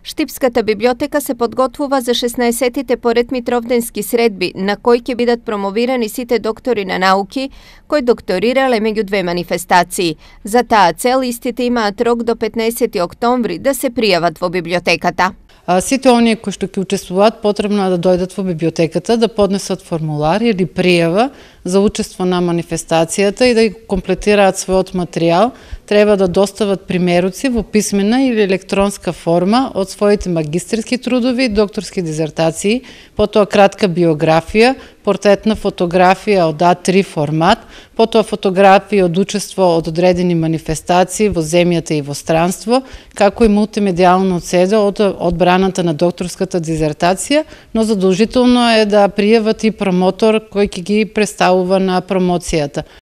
Штипската библиотека се подготвува за 16-тите поред Митровденски средби, на кои ќе бидат промовирани сите доктори на науки кои докторирале меѓу две манифестации. За таа цел истите имаат рок до 15 октомври да се пријават во библиотеката. Сите оние кои што ќе учествуваат потребно да дојдат во библиотеката, да поднесат формулар или пријава за учество на манифестацијата и да ја комплетираат својот материјал. Треба да достават примеруци во писмена или електронска форма од своите магистерски трудови, докторски дизертации, потоа кратка биографија, портретна фотографија од А3 формат, потоа фотографии од учество од одредени манифестации во земјата и во странство, како и мултимедијално оцеда од одбраната на докторската дизертација, но задолжително е да пријават и промотор кој ќе ги представува на промоцијата.